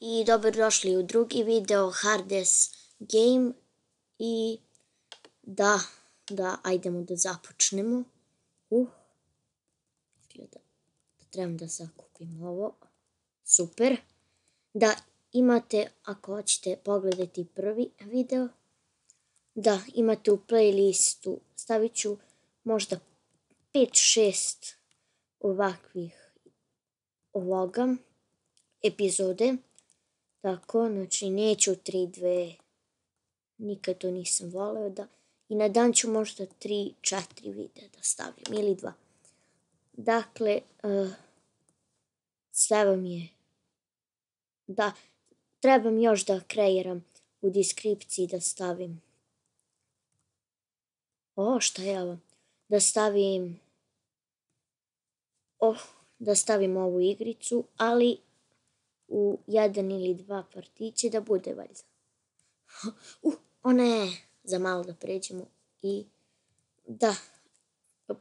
I dobrodošli u drugi video Hardest Game i da, ajdemo da započnemo. Izgleda da trebam da zakupim ovo. Super. Da imate, ako hoćete pogledati prvi video, da imate u playlistu, stavit ću možda 5-6 ovakvih epizode. Tako, znači neću 3-2, nikad to nisam voleo da, i na dan ću možda 3-4 videa da stavljam ili 2. Dakle, sve vam je, da, trebam još da kreiram u deskripciji da stavim, šta je ovo, da stavim ovu igricu, ali u 1 ili 2 partiće da bude valjda. Za malo da pređemo i da,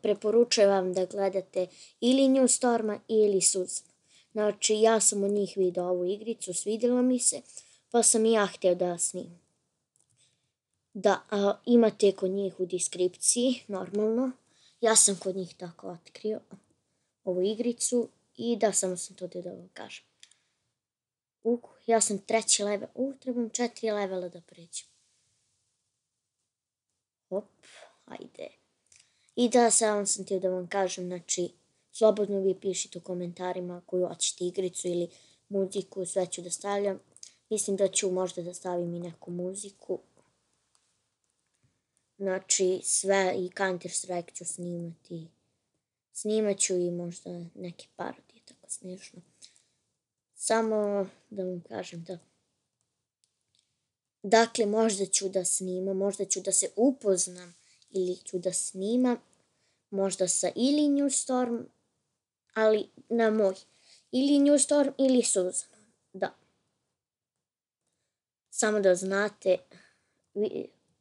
preporučujem vam da gledate ili New Storma ili Suzana. Znači, ja sam od njih vidio ovu igricu, svidjela mi se, pa sam i ja htio da snimam. Da, imate kod njih u deskripciji, normalno. Ja sam kod njih tako otkrio ovu igricu i da, samo sam to da vam kažem. Ja sam 3. level, trebam 4 levela da pređem. Ajde. I da, samo sam htio da vam kažem, znači, slobodno vi pišite u komentarima koju hoćete igricu ili muziku, sve ću da stavljam. Mislim da ću možda da stavim i neku muziku. Znači, sve i Counter Strike ću snimati. Snimat ću i možda neke parodije, tako smiješno. Samo da vam kažem da. Dakle, možda ću da snimam, možda ću da se upoznam ili ću da snimam, možda sa ili New Storm, ali na moj. Ili New Storm ili Suzana, da. Samo da znate,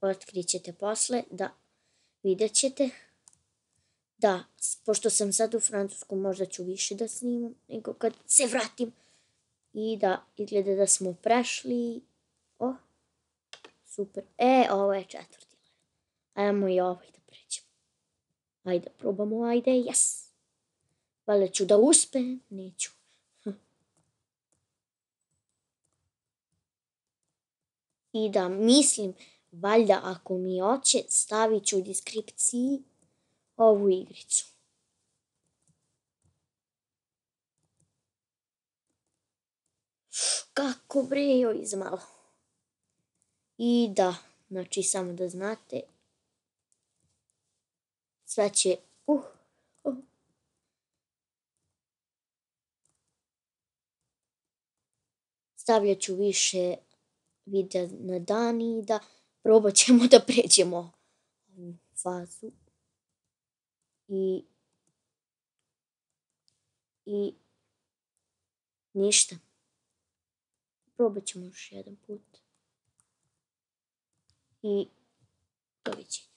otkrit ćete posle, da, vidjet ćete. Da, pošto sam sad u Francusku, možda ću više da snimam nego kad se vratim. I da, izgleda da smo prešli. Super. Ovo je 4. level. Ajmo i ovaj da pređemo. Ajde, probamo, ajde, yes. Valjda ću da uspem, neću. I da, mislim, valjda ako mi hoće, stavit ću u deskripciji ovu igricu. Kako bre, joj, izmalo. I da, znači, samo da znate, sve će, stavljat ću više videa na dan i da probat ćemo da pređemo ovu fazu. I ništa. Probat ćemo još jedan put. I doviđenja.